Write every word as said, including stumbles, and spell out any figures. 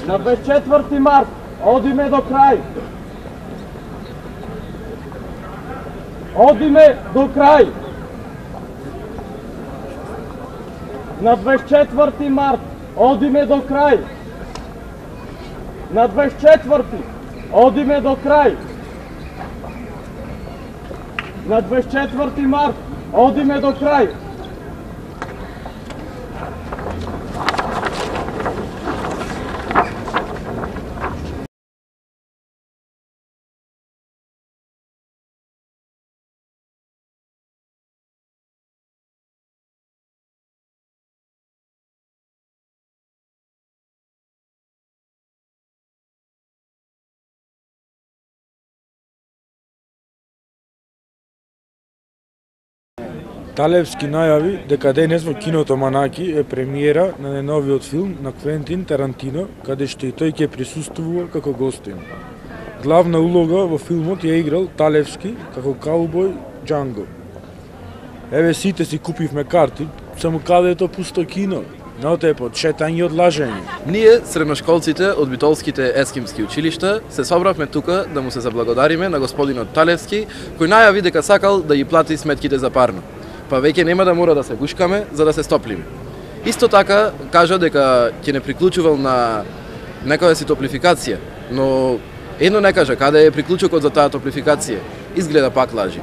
На дваесет и четврти март одиме до крај. Одиме до крај. На дваесет и четврти март одиме до крај. На дваесет и четврти одиме до крај. На дваесет и четврти март одиме до крај. Талевски најави дека денес во киното Манаки е премиера на најновиот филм на Квентин Тарантино, каде што и тој ќе присуствува како гостин. Главна улога во филмот ја играл Талевски како каубој Джанго. Еве сите си купивме карти, само каде е то пусто кино, на отепот, шетање и одлажење. Ние, средношколците од битолските ескимски училишта, се собравме тука да му се заблагодариме на господинот Талевски, кој најави дека сакал да ги плати сметките за парно. Па веќе нема да мора да се гушкаме за да се стоплиме. Исто така кажа дека ќе не приклучувал на некоја си топлификација, но едно не кажа каде е приклучокот за таа топлификација. Изгледа пак лажи.